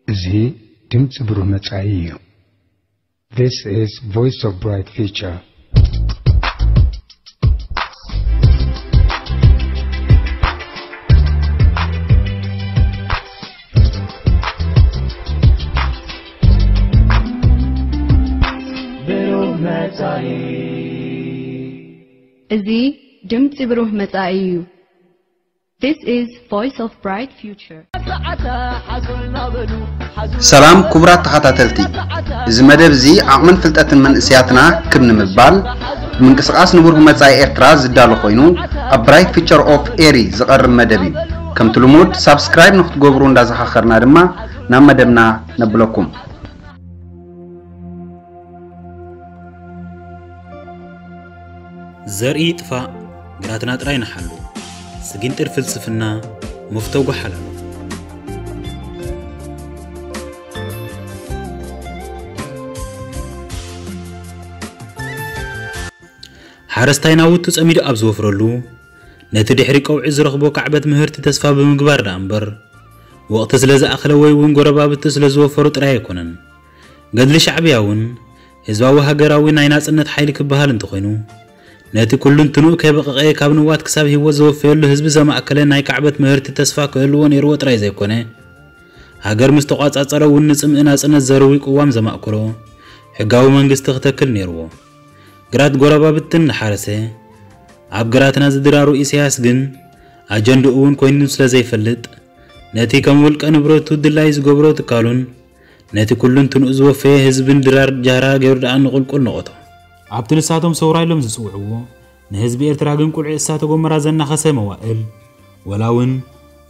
እዚ ድምፂ ብሩህ መጻኢ እዩ። This is Voice of Bright Future. ብሩህ መጻኢ። እዚ ድምፂ ብሩህ መጻኢ እዩ። This is Voice of Bright Future. ሰላም ክቡራት ተኸታተልቲ፣ እዚ መደብ እዚ ዓቕምን ፍልጠትን መንእሰያትና ክብ ንምባል፣ ብምንቅስቓስ ንብሩህ መጻኢ ኤርትራ ዝዳሎ ኮይኑ፣ ኣብ ብራይት ፊቸር ኦፍ ኤሪ ዝቐርብ መደብ እዩ። ከምቲ ልሙድ ሳብስክራይብ ንክትገብሩ እንዳዘኻኸርና ድማ ናብ መደብና ነብለኩም። ዘርኢ ይጥፋእ፣ ግራትና ጥራይ ንሓሉ። ስጊንጢር ፍልስፍና፣ መፍቶ ጓሓላሉ። ሓረስታይ ናውቱ ጸሚዱ ኣብ ዝወፍረሉ፣ ነቲ ድሕሪ ቀውዒ ዝረኽቦ ካዕበት ምህርቲ ተስፋ ብምግባር ደኣ እምበር፣ ወቕቲ ስለ ዝኣኸለ ወይ እውን ጎረባብቲ ስለ ዝወፈሩ ጥራይ ኣይኮነን። ገድሊ ሻዕብያ እውን ህዝባዊ ሃገራዊ ናይ ናጽነት ሓይሊ ክበሃል እንተኾይኑ፣ ነቲ ኩሉንትንኡ ከይበቐቐ ካብ ንዋት ክሳብ ህይወት ዘወፈየሉ ህዝቢ ዘማእከለ ናይ ካዕበት ምህርቲ ተስፋ ክህልዎ ነይርዎ ጥራይ ዘይኮነ፣ ሃገር ምስ ተቋጻጸረ እውን ንጽምኢ ናጽነት ዘርዊ ቅዋም ዘማእከሎ ሕጋዊ መንግስቲ ክተክል ነይርዎ። ግራት ጎረባብትን እናሓረሰ፣ ኣብ ግራትና ዝድራሩ ኢሳያስ ግን ኣጀንድኡ እውን ኮይኑ ስለ ዘይፈልጥ፣ ነቲ ከም ውልቀ ንብረቱ ድላይ ዝገብሮ ትካሉን ነቲ ኩሉንትንኡ ዝወፈየ ህዝብን ድራር ጃህራ ገይሩ ደኣ ንቑልቁል ነቖቶ። ኣብቲ ንሳቶም ሰውራ ኢሎም ዝጽውዕዎ፣ ንህዝቢ ኤርትራ ግን ቁልዒ እሳተ ጎመራ ዘናኸሰ መዋእል፣ ወላ እውን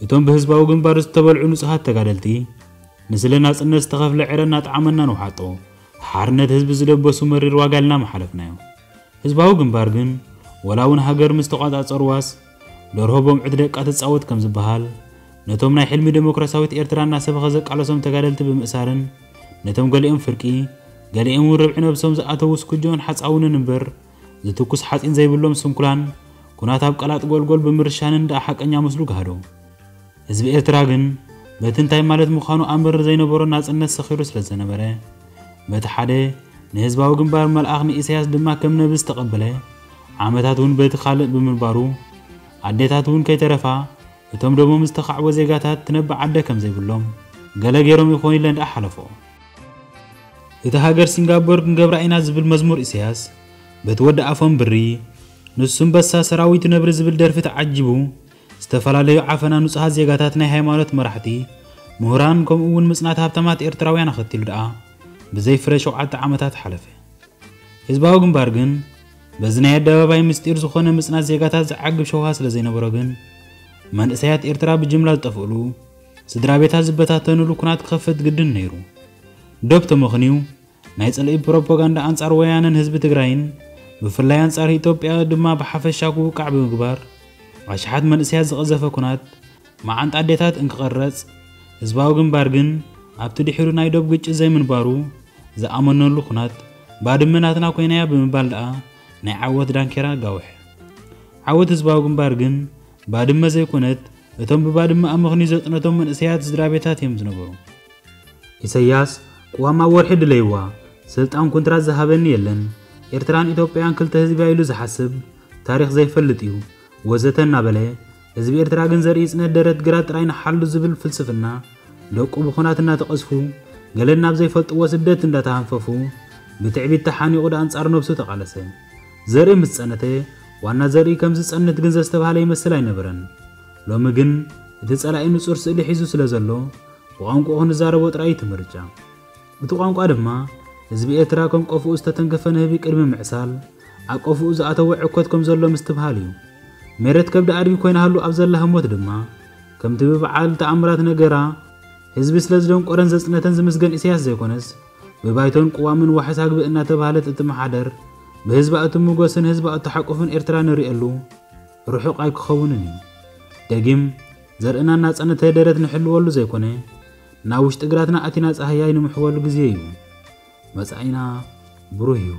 እቶም ብህዝባዊ ግንባር ዝተበልዑ ንጹሃት ተጋደልቲ፣ ንስለ ናጽነት ዝተኸፍለ ዕረ እናጠዓመና ንውሓጦ፣ ሓርነት ህዝቢ ዝለበሱ መሪር ዋጋ ኢልና ምሓለፍናዮ። ህዝባዊ ግንባር ግን፣ ወላ እውን ሃገር ምስ ተቋጻጸርዋስ፣ ደርሆ ቦምዒ ደቃ ትጻወት ከም ዝበሃል፣ ነቶም ናይ ሕልሚ ዴሞክራሲያዊት ኤርትራ እናሰበኸ ዘቃለሶም ተጋደልቲ ብምእሳርን፣ ነቶም ገሊኦም ፍርቂ፣ ገሊኦም እውን ርብዒ ነብሶም ዝኣተዉ ስኩጆን ሓጻውንን እምበር፣ ዝትኩስ ሓጺን ዘይብሎም ስንኩላን፣ ኩናት ኣብ ቀላጥ ጎልጎል ብምርሻንን ደኣ ሓቀኛ ምስሉ ጋህዶ። ህዝቢ ኤርትራ ግን በቲ እንታይ ማለት ምዃኑ ኣምር ዘይነበሮ ናጽነት ሰኺሩ ስለ ዝነበረ፣ በቲ ሓደ ንህዝባዊ ግንባር መልኣኽ ንኢሳያስ ድማ ከም ነቢ ዝተቐበለ፣ ዓመታት እውን በቲ ካልእ ብምንባሩ፣ ኣዴታት እውን ከይተረፋ እቶም ደሞም ዝተኻዕቦ ዜጋታት ትነብዕ ኣደ ከም ዘይብሎም ገለ ገይሮም ይኾኑ ኢለን ደኣ ሓለፎ። እቲ ሃገር ሲንጋፖር ክንገብራ ኢና ዝብል መዝሙር ኢሳያስ፣ በቲ ወዲ ኣፎም ብሪ፣ ንሱ እምበሳ ሰራዊቱ ነብሪ ዝብል ደርፊ ተዓጂቡ፣ ዝተፈላለዩ ዓፈና ንጹሃት ዜጋታት፣ ናይ ሃይማኖት መራሕቲ፣ ምሁራን፣ ከምኡ እውን ምጽናት ሃብታማት ኤርትራውያን ኣኸቲሉ ደኣ ብዘይ ፍረ ሸውዓተ ዓመታት ሓለፈ። ህዝባዊ ግንባር ግን በዚ ናይ ኣደባባይ ምስጢር ዝኾነ ምጽናት ዜጋታት ዝዓግብ ሸውሃ ስለ ዘይነበሮ ግን መንእሰያት ኤርትራ ብጅምላ ዝጠፍእሉ፣ ስድራ ቤታት ዝበታተንሉ ኩናት ክኸፍት ግድን ነይሩ። ዶብ ተመኽንዩ ናይ ጽልኢ ፕሮፓጋንዳ ኣንጻር ወያነን ህዝቢ ትግራይን ብፍላይ ኣንጻር ኢትዮጵያ ድማ ብሓፈሻ ክውቃዕ ብምግባር ኣሽሓት መንእሰያት ዝቐዘፈ ኩናት መዓንጣ ኣዴታት እንክቐረጽ፣ ህዝባዊ ግንባር ግን ኣብቲ ድሒሩ ናይ ዶብ ግጭት ዘይምንባሩ ዝኣመነሉ ኩናት ባድመ ናትና ኮይናያ ብምባል ደኣ ናይ ዓወት ዳንኬራ ኣጋውሐ። ዓወት ህዝባዊ ግንባር ግን ባድመ ዘይኮነት እቶም ብባድመ ኣመኽንዩ ዘጽነቶም መንእሰያት ስድራ ቤታት እዮም ዝነበሩ። ኢሰያስ ቅዋም ኣብ ወርሒ ድለይዋ፣ ስልጣን ኩንትራት ዝሃበኒ የለን፣ ኤርትራን ኢትዮጵያን ክልተ ህዝቢ ኢሉ ዝሓስብ፣ ታሪኽ ዘይፈልጥ እዩ፣ ወዘተ እናበለ፣ ህዝቢ ኤርትራ ግን ዘርኢ ጽነት ደረት ግራት ጥራይ ንሓሉ ዝብል ፍልስፍና፣ ደቁ ብኹናት እናተቐዝፉ፣ ገለን ናብ ዘይፈልጥዎ ስደት እንዳተሃንፈፉ፣ ብትዕቢት ተሓኒቑ ደኣ ኣንጻር ነብሱ ተቓለሰ። ዘርኢ ምስ ጸነተ፣ ዋና ዘርኢ ከም ዝጸንት ግን ዘስተብሃለ ይመስል ኣይነበረን። ሎሚ ግን እቲ ጸላኢ ንጹር ስእሊ ሒዙ ስለ ዘሎ፣ ብቋንቋኡ ክንዛረቦ ጥራይ እዩ እቲ ምርጫ። እቲ ቋንቋ ድማ ህዝቢ ኤርትራ ከም ቆፍኡ ዝተተንከፈ ንህቢ ቅድሚ ምዕሳል ኣብ ቆፍኡ ዝኣተወ ዕኮት ከም ዘሎ ምስትብሃል እዩ። ሜረት ከብዲ ኣድጊ ኮይናሃሉ ኣብ ዘላ ህሞት ድማ ከምቲ ብበዓል ተኣምራት ነገራ ህዝቢ ስለ ዝደንቆረን ዘጽነተን ዝምስገን ኢሳያስ ዘይኮነስ ብባይቶን ቅዋምን ዋሕስ ኣግብእ እናተባህለት እትመሓደር ብህዝባ እትምጎስን ህዝባ እትሓቁፍን ኤርትራ ንርእየሉ ርሑቕ ኣይክኸውንን እዩ። ደጊም ዘርእና እናጸነተ ደረት ንሕልወሉ ዘይኮነ ናብ ውሽጢ ግራትና ኣቲና ጻህያይ ንምሕወሉ ግዜ እዩ። መጻኢና ብሩህ እዩ።